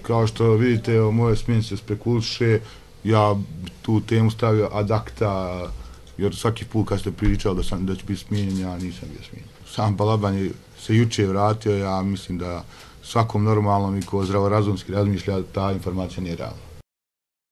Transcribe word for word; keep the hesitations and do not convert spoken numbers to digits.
kao što vidite, o mojoj smjeni se spekuliše, ja tu temu stavio ad acta, jer svaki put kad ste pričali da, sam, da će biti smijenjen, ja nisam bio smijenjen. Sam Balaban je se juče vratio, ja mislim da svakom normalnom i ko zdravorazumski razmišlja, ta informacija nije realna.